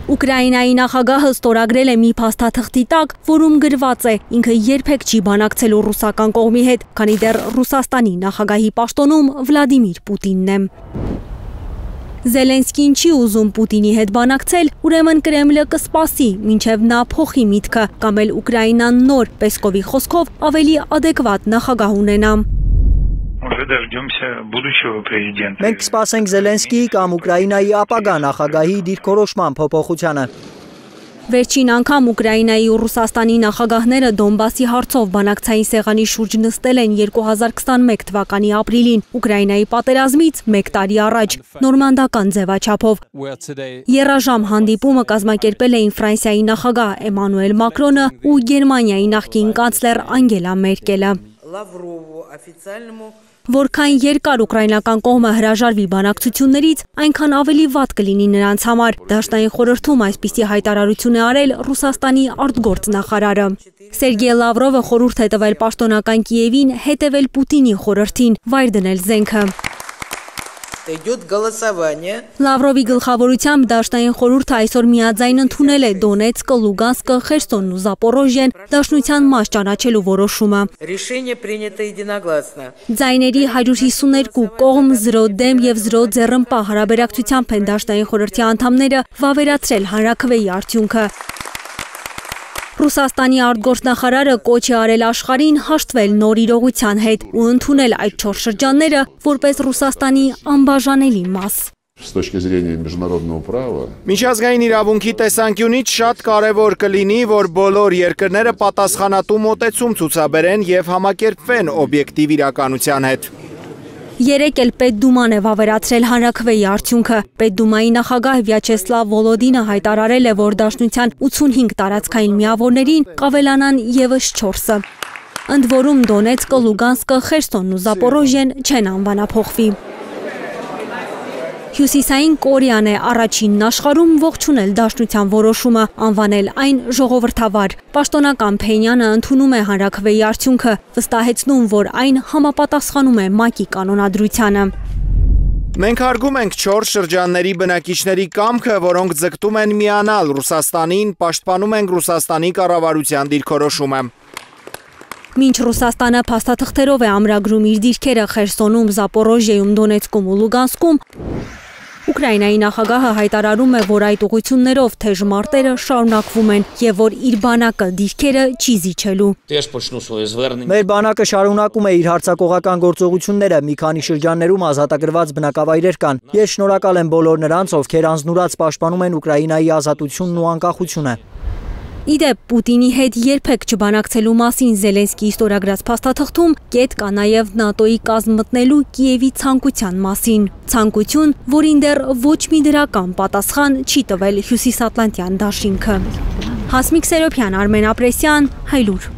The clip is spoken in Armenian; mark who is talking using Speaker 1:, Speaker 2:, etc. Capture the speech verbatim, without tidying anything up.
Speaker 1: Ուկրաինայի նախագահը ստորագրել է մի փաստաթղթի տակ, որում գրված է ինքը երբեք չի բանակցելու ռուսական կողմի հետ, քանի դեռ Ռուսաստանի նախագահի պաշտոնում Վլադիմիր Պուտինն է։ Զելենսկին չի ուզում Պուտինի հետ բանակցել, ուրեմն Կրեմլը կսպասի, մինչև նա փոխի միտքը, կամ էլ Ուկրաինան նոր, Պեսկովի խոսքով, ավելի ադեկվատ նախագահ ունենա։
Speaker 2: Մենք կսպասենք Զելենսկիի կամ Ուկրաինայի ապագա նախագահի դիրքորոշման փոփոխությանը։
Speaker 1: Վերջին անգամ Ուկրաինայի ու Ռուսաստանի նախագահները Դոնբասի հարցով բանակցային սեղանի շուրջ նստել են երկու հազար քսաներկու թվականի ապրիլին, Ուկրաինայի պատերազմից մեկ տարի առաջ, նորմանդական ձևաչափով։ Եռաժամ հանդիպումը կազմակերպել էին Ֆրանսիայի նախագահ Էմանուել Մակրոնը ու Գերմանիայի նախկին կանցլեր Անգելա Մերկելը։ Որքան երկար ուկրաինական կողմը հրաժարվի բանակցություններից, այնքան ավելի վատ կլինի նրանց համար։ Դաշնային խորհրդում այսպիսի հայտարարություն է արել Ռուսաստանի արտգործնախարարը։ Սերգեյ Լավրովը խորհուրդ է տվել պաշտոնական Կիևին հետևել Պուտինի խորհրդին, վայր դնել զենքը։ Լավրովի գլխավորությամբ Դաշնային խորհուրդը այսօր միաձայն ընդունել է Դոնեցկը, Լուգանսկը, Խերսոնն ու Զապորոժիեն դաշնության մաս ճանաչելու որոշումը։ Ձայների հարյուր հիսուներկու կողմ, զրո դեմ և զրո ձեռնպահ հարաբերակցությամբ են Դաշնային խորհրդի անդամները վավերացրել հանրաքվեի արդյունքը։ Ռուսաստանի արտգործնախարարը կոչ է արել աշխարհին հաշտվել նոր իրողության հետ ու ընդունել այդ չորս շրջանները որպես Ռուսաստանի անբաժանելի մաս։
Speaker 3: Միջազգային իրավունքի տեսանկյունից շատ կարևոր կլինի, որ բոլոր երկրները պատասխանատու մոտեցում ցուցաբերեն և համակերպվեն օբյեկտիվ իրականության հետ։
Speaker 1: Երեկ էլ Պետդուման է վավերացրել հանրաքվեի արդյունքը։ Պետդումայի նախագահ Վյաչեսլավ Վոլոդինը հայտարարել է, որ Դաշնության ութսունհինգ տարածքային միավորներին կավելանան ևս չորսը։ Ընդ որում Դոնեցկը, Լուգանսկը, Խերսոնն ու Զապորոժիեն չեն անվանափոխվի։ Հյուսիսային Կորեան է առաջինն աշխարհում ողջունել Դաշնության որոշումը, անվանել այն ժողովրդավար։ Պաշտոնական Փենյանը ընդունում է հանրաքվեի արդյունքը, վստահեցնում, որ այն համապատասխանում է ՄԱԿ-ի կանոնադրությանը։
Speaker 3: Մենք հարգում ենք չորս շրջանների բնակիչների կամքը, որոնք ձգտում են միանալ Ռուսաստանին, պաշտպանում ենք Ռուսաստանի կառավարության դիրքորոշումը։
Speaker 1: Մինչ Ռուսաստանը փաստաթղթերով է ամրագրում իր դիրքերը Խերսոնում, Զապորոժիեում, Դոնեցկում ու Լուգանսկում, Ուկրաինայի նախագահը հայտարարում է, որ այդ ուղղություններով թեժ մարտերը շարունակվում են և որ իր բանակը դիրքերը չի զիջելու։
Speaker 2: Մեր բանակը շարունակում է իր հարձակողական գործողությունները, մի քանի շրջաններում ազատագրված բնակավայրեր կան։ Ես շնորհակալ եմ բոլոր նրանց, ովքեր անձնուրաց պաշտպանում են Ուկրաինայի ազատությունն ու անկախությունը։
Speaker 1: Իդեպ Պուտինի հետ երբեք չբանակցելու մասին Զելենսկիի ստորագրած փաստաթղթում կետ կա նաև ՆԱՏՕ-ի կազմ մտնելու Կիևի ցանկության մասին։ Ցանկություն, որին դեռ ոչ մի դրական պատասխան չի տվել Հյուսիսատլանտյան դաշինքը։ Հասմիկ Սերոբյան, Արմեն Ապրեսյան, Հայլուր։